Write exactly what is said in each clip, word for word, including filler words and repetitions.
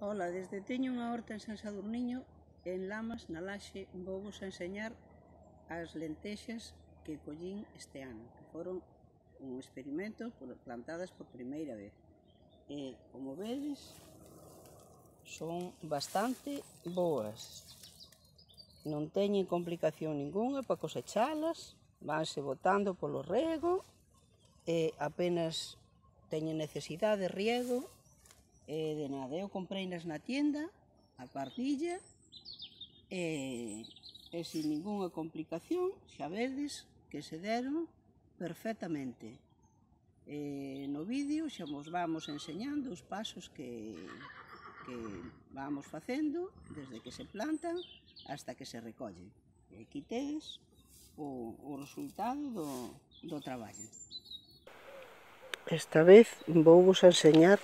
Ola, desde teño unha horta en San Sadurniño, en Lamas, na Laxe, vou vos enseñar as lentexas que collín este ano, que foron un experimento plantadas por primeira vez. E, como vedes, son bastante boas. Non teñen complicación ninguna para cosechalas, vanse botando polo rego, e apenas teñen necesidade de riego, e de nada. Eu compreinas na tienda, a pardilla, e, e sin ninguna complicación, xa vedes que se deron perfectamente. E no vídeo xa vos vamos enseñando os pasos que, que vamos facendo desde que se plantan hasta que se recollen. E aquí tedes o, o resultado do, do traballo. Esta vez vou vos enseñar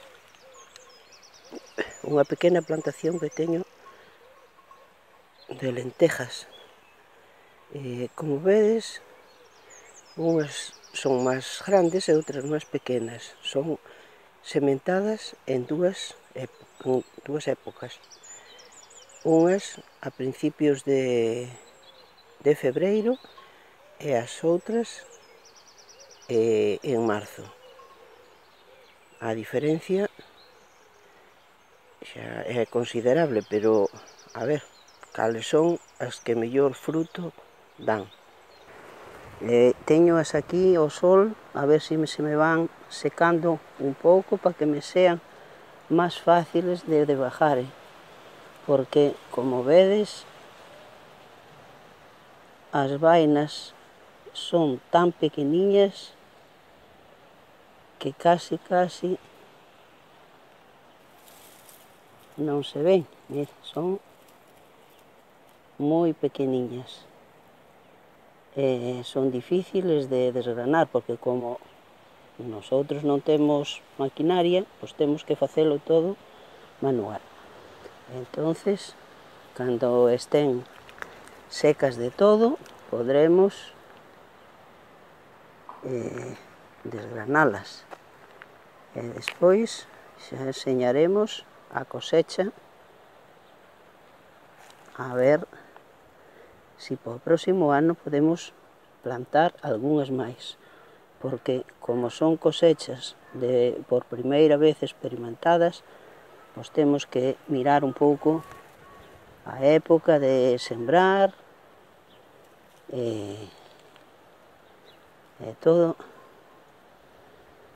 unha pequena plantación que teño de lentejas. E, como vedes, unhas son máis grandes e outras máis pequenas. Son sementadas en dúas, en dúas épocas. Unhas a principios de, de febreiro e as outras eh, en marzo. A diferencia xa é considerable, pero a ver, cales son as que mellor fruto dan. Eh, teñoas aquí ao sol, a ver se me, se me van secando un pouco para que me sean máis fáciles de, de bajar, eh? Porque, como vedes, as vainas son tan pequeniñas que casi, casi non se ven, eh? Son moi pequeniñas. Eh, son difíciles de desgranar, porque como nosotros non temos maquinaria, pois temos que facelo todo manual. Entonces, cando estén secas de todo, podremos eh, desgranalas. E despois xa enseñaremos a cosecha, a ver se para o próximo ano podemos plantar algunhas máis, porque como son cosechas de, por primeira vez experimentadas, pois temos que mirar un pouco a época de sembrar e, e todo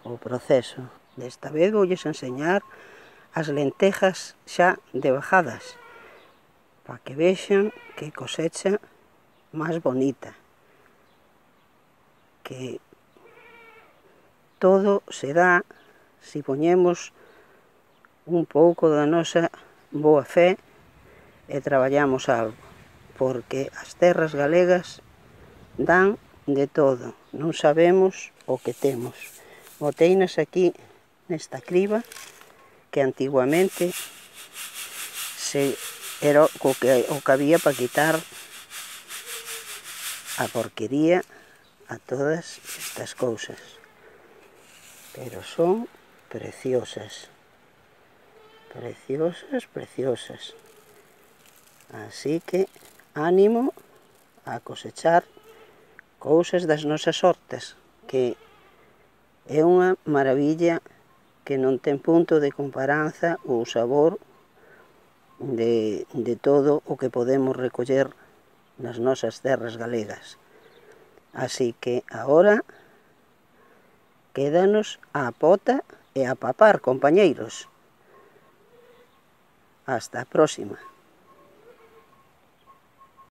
o proceso. Desta vez voulles enseñar as lentejas xa debajadas, para que vexan que cosecha máis bonita, que todo se dá se poñemos un pouco da nosa boa fe e traballamos algo, porque as terras galegas dan de todo, non sabemos o que temos. Boteinas aquí nesta criba, que antiguamente se era o que, o que había para quitar a porquería a todas estas cousas. Pero son preciosas. Preciosas, preciosas. Así que ánimo a cosechar cousas das nosas hortas, que é unha maravilla que non ten punto de comparanza o sabor de, de todo o que podemos recoller nas nosas terras galegas. Así que agora quédanos a pota e a papar, compañeiros. Hasta a próxima.